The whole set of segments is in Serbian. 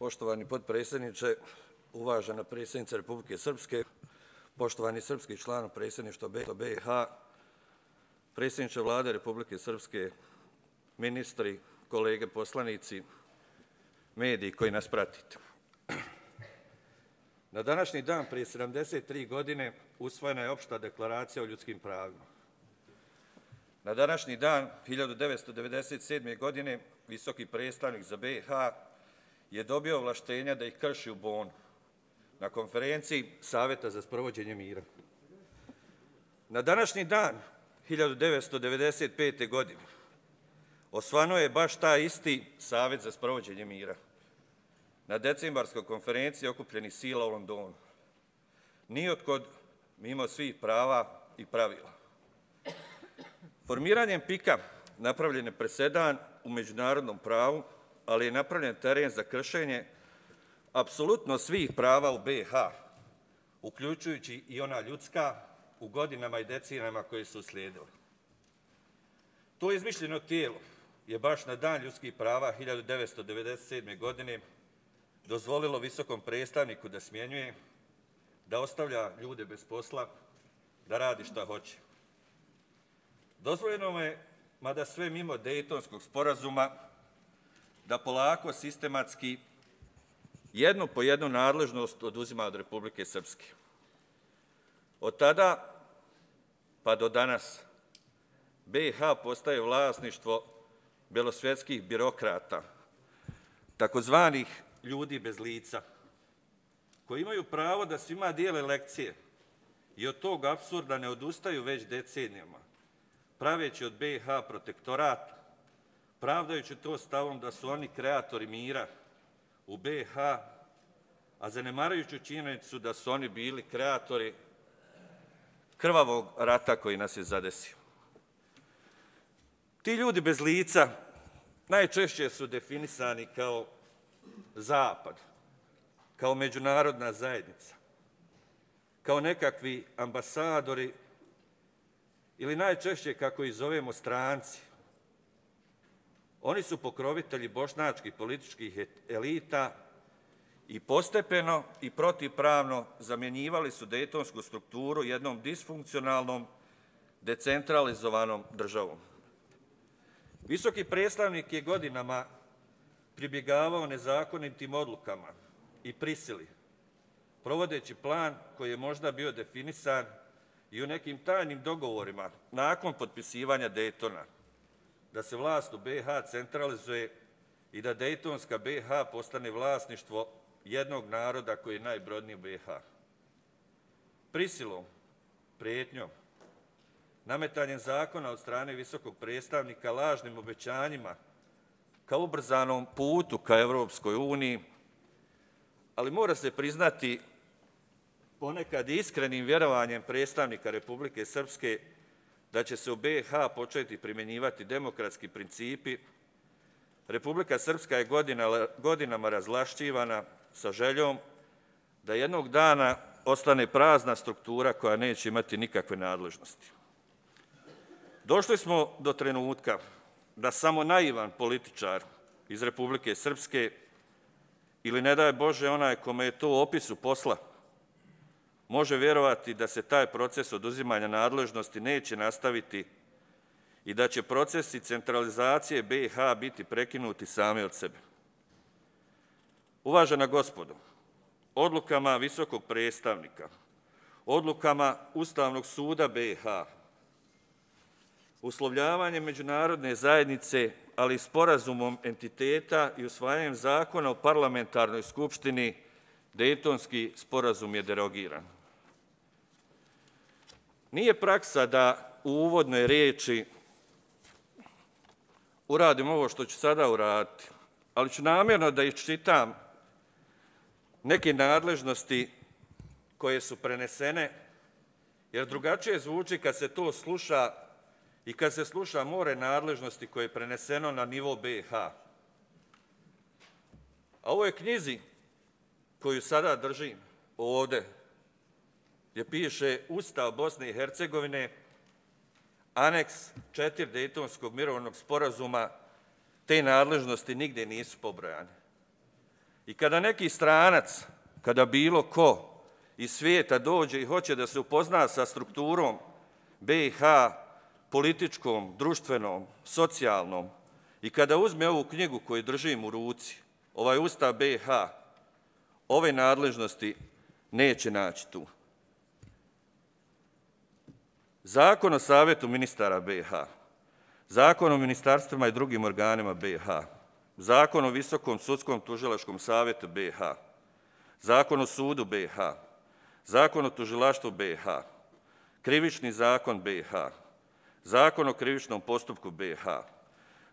Poštovani potpredsjedniče, uvažena predsjednica Republike Srpske, poštovani srpski član predsjedništva BiH, predsjedniče Vlade Republike Srpske, ministri, kolege poslanici, mediji koji nas pratite. Na današnji dan prije 73 godine usvojena je opšta deklaracija o ljudskim pravima. Na današnji dan 1997. godine visoki predstavnik za BiH je dobio ovlaštenja da ih krši u Bonu na konferenciji Saveta za sprovođenje mira. Na današnji dan 1995. godine osvano je baš taj isti Savet za sprovođenje mira na decembarskoj konferenciji okupljenih sila u Londonu. Nijotkud mimo svih prava i pravila. Formiranjem PIK-a napravljen je presedan u međunarodnom pravu, ali je napravljen teren za kršenje apsolutno svih prava u BiH, uključujući i ona ljudska u godinama i decenijama koje su uslijedile. To izmišljeno tijelo je baš na dan ljudskih prava 1997. godine dozvolilo visokom predstavniku da smjenjuje, da ostavlja ljude bez posla, da radi šta hoće. Dozvoljeno je, mada sve mimo Dejtonskog sporazuma, da polako sistematski jednu po jednu nadležnost oduzima od Republike Srpske. Od tada pa do danas BiH postaje vlasništvo belosvjetskih birokrata, takozvanih ljudi bez lica, koji imaju pravo da svima dijele lekcije i od tog apsurda ne odustaju već decenijama, praveći od BiH protektorat, pravdajući to stavom da su oni kreatori mira u BiH, a zanemarujući činjenicu da su oni bili kreatori krvavog rata koji nas je zadesio. Ti ljudi bez lica najčešće su definisani kao Zapad, kao međunarodna zajednica, kao nekakvi ambasadori ili najčešće, kako ih zovemo, stranci. Oni su pokrovitelji bošnjačkih političkih elita i postepeno i protivpravno zamjenjivali su dejtonsku strukturu jednom disfunkcionalnom, decentralizovanom državom. Visoki predstavnik je godinama pribjegavao nezakonitim odlukama i prisili, provodeći plan koji je možda bio definisan i u nekim tajnim dogovorima nakon potpisivanja Dejtona, da se vlast u BiH centralizuje i da Dejtonska BiH postane vlasništvo jednog naroda koji je najbrojniji u BiH. Prisilom, prijetnjom, nametanjem zakona od strane visokog predstavnika, lažnim obećanjima ka ubrzanom putu ka Evropskoj uniji, ali mora se priznati ponekad iskrenim vjerovanjem predstavnika Republike Srpske da će se u BiH početi primjenjivati demokratski principi, Republika Srpska je godinama razvlašćivana sa željom da jednog dana ostane prazna struktura koja neće imati nikakve nadležnosti. Došli smo do trenutka da samo naivan političar iz Republike Srpske ili, ne daj Bože, onaj kome je to u opisu posla, može vjerovati da se taj proces oduzimanja nadležnosti neće nastaviti i da će procesi centralizacije BiH biti prekinuti sami od sebe. Uvažena gospodo, odlukama visokog predstavnika, odlukama Ustavnog suda BiH, uslovljavanjem međunarodne zajednice, ali i sporazumom entiteta i usvajanjem zakona o parlamentarnoj skupštini, Dejtonski sporazum je derogiran. Nije praksa da u uvodnoj riječi uradim ovo što ću sada uraditi, ali ću namjerno da iščitam neke nadležnosti koje su prenesene, jer drugačije zvuči kad se to sluša i kad se sluša more nadležnosti koje je preneseno na nivo BiH. A ovoj knjizi koju sada držim ovde, gdje piše Ustav Bosne i Hercegovine, aneks 4 Dejtonskog mirovnog sporazuma, te nadležnosti nigdje nisu pobrojane. I kada neki stranac, kada bilo ko iz svijeta dođe i hoće da se upozna sa strukturom BiH, političkom, društvenom, socijalnom, i kada uzme ovu knjigu koju držim u ruci, ovaj Ustav BiH, ove nadležnosti neće naći tu. Zakon o Savjetu ministara BiH, Zakon o ministarstvima i drugim organima BiH, Zakon o Visokom sudskom tužilačkom savjetu BiH, Zakon o sudu BiH, Zakon o tužilaštvu BiH, Krivični zakon BiH, Zakon o krivičnom postupku BiH,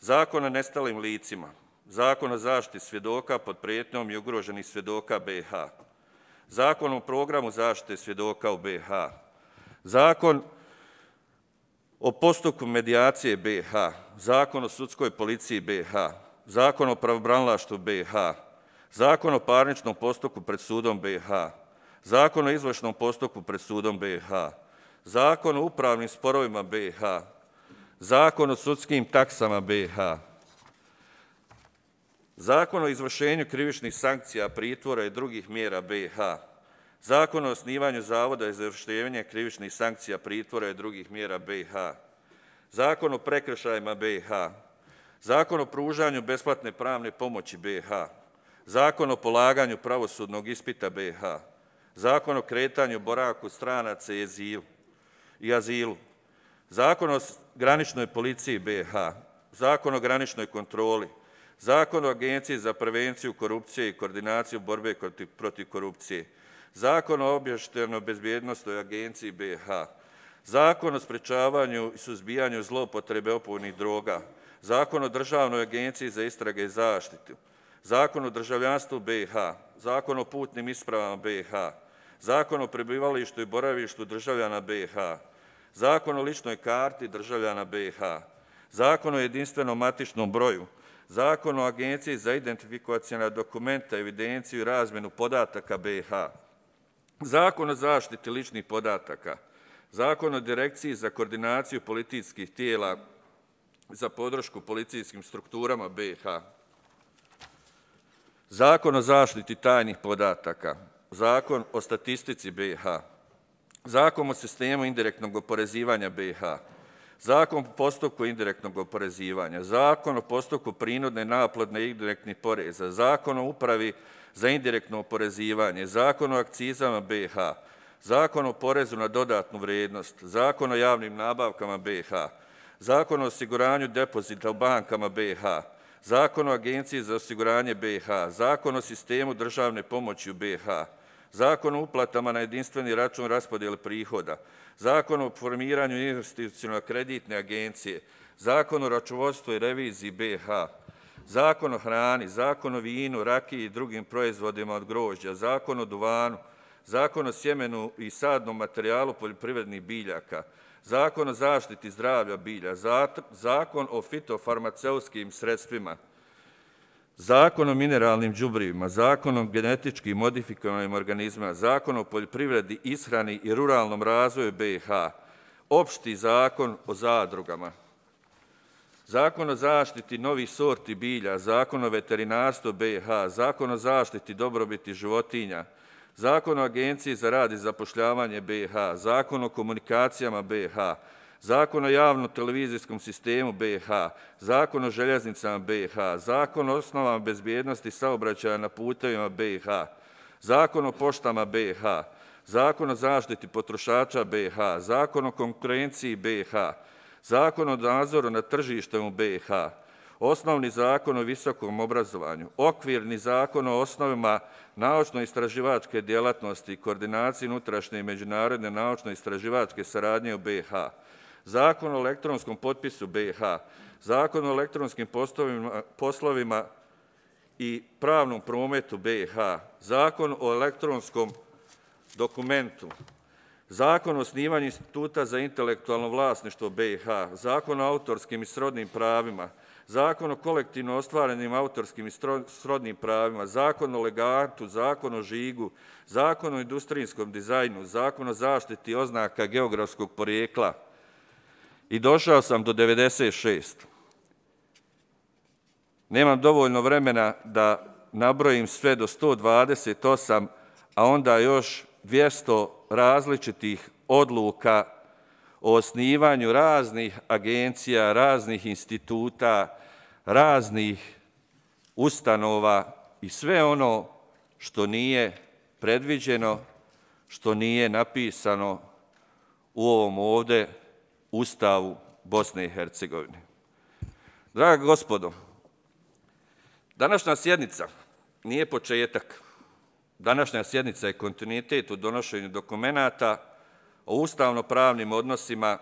Zakon o nestalim licima, Zakon o zaštiti svjedoka pod prijetnjom i ugroženih svjedoka BiH, Zakon o programu zaštite svjedoka u BiH, Zakon o postupku medijacije BiH, Zakon o sudskoj policiji BiH, Zakon o pravobranilaštvu BiH, Zakon o parničnom postupku pred sudom BiH, Zakon o izvršnom postupku pred sudom BiH, Zakon o upravnim sporovima BiH, Zakon o sudskim taksama BiH, Zakon o izvršenju krivičnih sankcija, pritvora i drugih mjera BiH, Zakon o osnivanju Zavoda za izvršenje krivičnih sankcija, pritvora i drugih mjera BiH, Zakon o prekršajima BiH, Zakon o pružanju besplatne pravne pomoći BiH, Zakon o polaganju pravosudnog ispita BiH, Zakon o kretanju, boravku stranaca i azilu, Zakon o graničnoj policiji BiH, Zakon o graničnoj kontroli, Zakon o Agenciji za prevenciju korupcije i koordinaciju borbe protiv korupcije, Zakon o obavještajnoj bezbjednosnoj agenciji BiH, Zakon o sprečavanju i suzbijanju zloupotrebe opojnih droga, Zakon o Državnoj agenciji za istrage i zaštitu, Zakon o državljanstvu BiH, Zakon o putnim ispravama BiH, Zakon o prebivalištu i boravištu državljana BiH, Zakon o ličnoj karti državljana BiH, Zakon o jedinstvenom matičnom broju, Zakon o Agenciji za identifikacione dokumenta, evidenciju i razmjenu podataka BiH, Zakon o zaštiti ličnih podataka, Zakon o Direkciji za koordinaciju policijskih tijela za podršku policijskim strukturama BiH, Zakon o zaštiti tajnih podataka, Zakon o statistici BiH, Zakon o sistemu indirektnog oporezivanja BiH, Zakon o postupku indirektnog oporezivanja, Zakon o postupku prinudne naplate indirektnih poreza, Zakon o upravi za indirektno oporezivanje, Zakon o akcizama BiH, Zakon o porezu na dodatnu vrijednost, Zakon o javnim nabavkama BiH, Zakon o osiguranju depozita u bankama BiH, Zakon o Agenciji za osiguranje BiH, Zakon o sistemu državne pomoći u BiH, Zakon o uplatama na jedinstveni račun raspodjele prihoda, Zakon o formiranju institucionalno-kreditne agencije, Zakon o računovodstvu i reviziji BiH, Zakon o hrani, Zakon o vinu, rakiji i drugim proizvodima od grožđa, Zakon o duvanu, Zakon o sjemenu i sadnom materijalu poljoprivrednih biljaka, Zakon o zaštiti zdravlja bilja, Zakon o fitofarmaceutskim sredstvima, Zakon o mineralnim đubrivima, Zakon o genetički modifikovanim organizmima, Zakon o poljoprivredi, ishrani i ruralnom razvoju BiH, Opšti zakon o zadrugama, Zakon o zaštiti novih sorti bilja, Zakon o veterinarstvu BiH, Zakon o zaštiti dobrobiti životinja, Zakon o Agenciji za rad i zapošljavanje BiH, Zakon o komunikacijama BiH, Zakon o javnom televizijskom sistemu BiH, Zakon o željeznicama BiH, Zakon o osnovama bezbjednosti saobraćaja na putevima BiH, Zakon o poštama BiH, Zakon o zaštiti potrošača BiH, Zakon o konkurenciji BiH, Zakon o nadzoru nad tržištem u BiH, Osnovni zakon o visokom obrazovanju, Okvirni zakon o osnovama naučno-istraživačke djelatnosti i koordinaciji unutrašnje i međunarodne naučno-istraživačke saradnje u BiH, Zakon o elektronskom potpisu BiH, Zakon o elektronskim poslovima i pravnom prometu BiH, Zakon o elektronskom dokumentu, Zakon o osnivanju instituta za intelektualno vlasništvo BiH, Zakon o autorskim i srodnim pravima, Zakon o kolektivno ostvarenim autorskim i srodnim pravima, Zakon o legatu, Zakon o žigu, Zakon o industrijskom dizajnu, Zakon o zaštiti oznaka geografskog porijekla i došao sam do 96. Nemam dovoljno vremena da nabrojim sve do 128, a onda još 200 različitih odluka o osnivanju raznih agencija, raznih instituta, raznih ustanova i sve ono što nije predviđeno, što nije napisano u ovom ovde Ustavu Bosne i Hercegovine. Draga gospodo, današnja sjednica nije početak. Današnja sjednica je kontinuitet u donošenju dokumenata o ustavno-pravnim odnosima.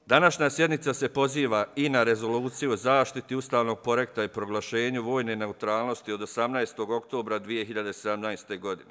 Današnja sjednica se poziva i na rezoluciju o zaštiti ustavnog poretka i proglašenju vojne neutralnosti od 18. oktobra 2017. godine.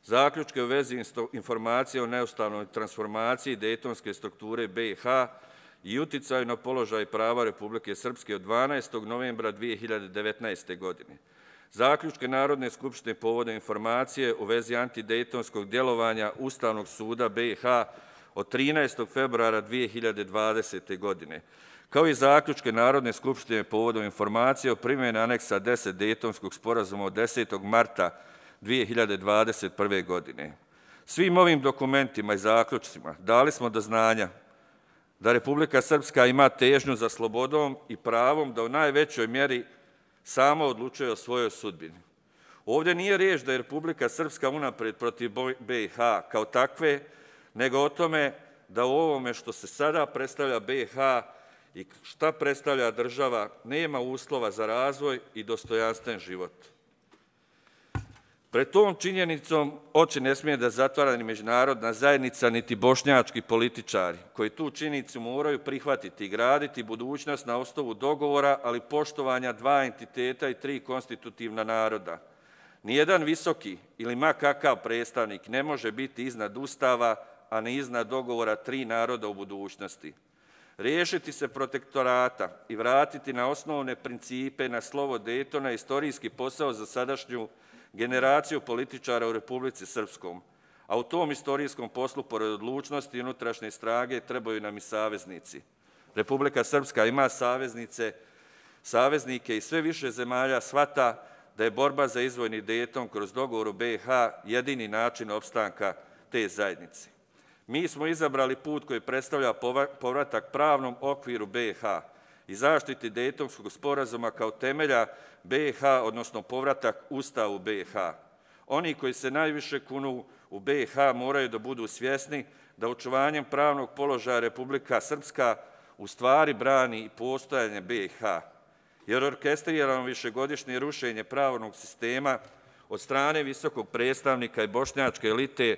Zaključke u vezi informacije o neustavnoj transformaciji dejtonske strukture BiH i uticaju na položaj prava Republike Srpske od 12. novembra 2019. godine. Zaključke Narodne skupštine povodom informacije u vezi antidejtonskog djelovanja Ustavnog suda BiH od 13. februara 2020. godine, kao i zaključke Narodne skupštine povodom informacije o primjeni aneksa 10 Dejtonskog sporazuma od 10. marta 2021. godine. Svim ovim dokumentima i zaključcima dali smo do znanja da Republika Srpska ima težnju za slobodom i pravom da u najvećoj mjeri sama odlučuje o svojoj sudbini. Ovdje nije riječ da je Republika Srpska unaprijed protiv BiH kao takve, nego o tome da u ovome što se sada predstavlja BiH i šta predstavlja država nema uslova za razvoj i dostojanstven život. Pred tom činjenicom oči ne smije da zatvara ni međunarodna zajednica, niti bošnjački političari, koji tu činjenicu moraju prihvatiti i graditi budućnost na osnovu dogovora, ali poštovanja dva entiteta i tri konstitutivna naroda. Nijedan visoki ili ma kakav predstavnik ne može biti iznad Ustava, a ne iznad dogovora tri naroda u budućnosti. Riješiti se protektorata i vratiti na osnovne principe na slovo Dejtona je istorijski posao za sadašnju generaciju političara u Republici Srpskom, a u tom istorijskom poslu, pored odlučnosti i unutrašnje strage, trebaju nam i saveznici. Republika Srpska ima saveznike i sve više zemalja shvata da je borba za izvojni Dejton kroz dogovor u BiH jedini način opstanka te zajednice. Mi smo izabrali put koji predstavlja povratak pravnom okviru BiH i zaštiti Dejtonskog sporazuma kao temelja BiH, odnosno povratak Ustavu BiH. Oni koji se najviše kunu u BiH moraju da budu svjesni da očuvanjem pravnog položaja Republika Srpska u stvari brani i postojanje BiH, jer orkestrirano višegodišnje rušenje pravnog sistema od strane visokog predstavnika i bošnjačke elite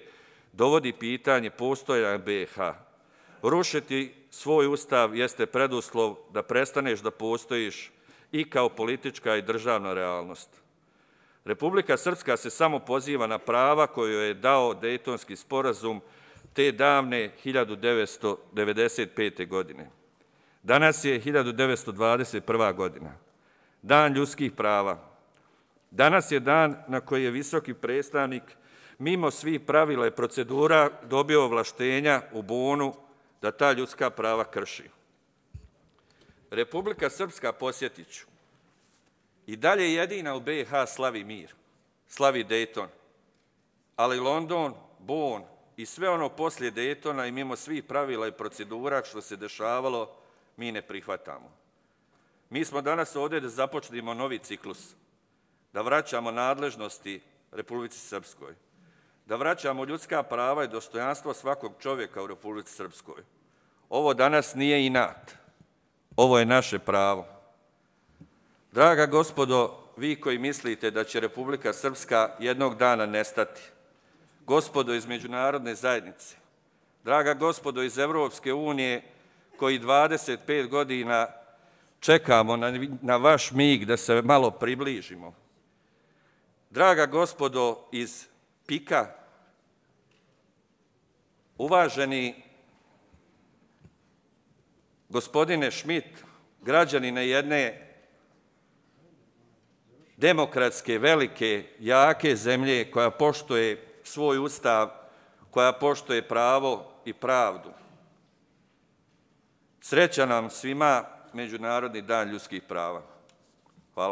dovodi pitanje postojanja BiH. Rušiti svoj ustav jeste preduslov da prestaneš da postojiš i kao politička i državna realnost. Republika Srpska se samo poziva na prava koju je dao Dejtonski sporazum te davne 1995. godine. Danas je 1921. godina, dan ljudskih prava. Danas je dan na koji je visoki predstavnik mimo svih pravila i procedura dobio ovlaštenja u Bonu da ta ljudska prava krši. Republika Srpska, posjetit ću, i dalje jedina u BiH slavi mir, slavi Dejton, ali London, Bon i sve ono poslije Dejtona i mimo svih pravila i procedura što se dešavalo, mi ne prihvatamo. Mi smo danas ovdje da započnemo novi ciklus, da vraćamo nadležnosti Republici Srpskoj, da vraćamo ljudska prava i dostojanstvo svakog čovjeka u Republici Srpskoj. Ovo danas nije inat, ovo je naše pravo. Draga gospodo, vi koji mislite da će Republika Srpska jednog dana nestati, gospodo iz međunarodne zajednice, draga gospodo iz Evropske unije, koji 25 godina čekamo na vaš mig da se malo približimo, draga gospodo iz PIK-a, uvaženi gospodine Schmidt, građanine jedne demokratske, velike, jake zemlje koja poštuje svoj ustav, koja poštuje pravo i pravdu. Sreća nam svima Međunarodni dan ljudskih prava.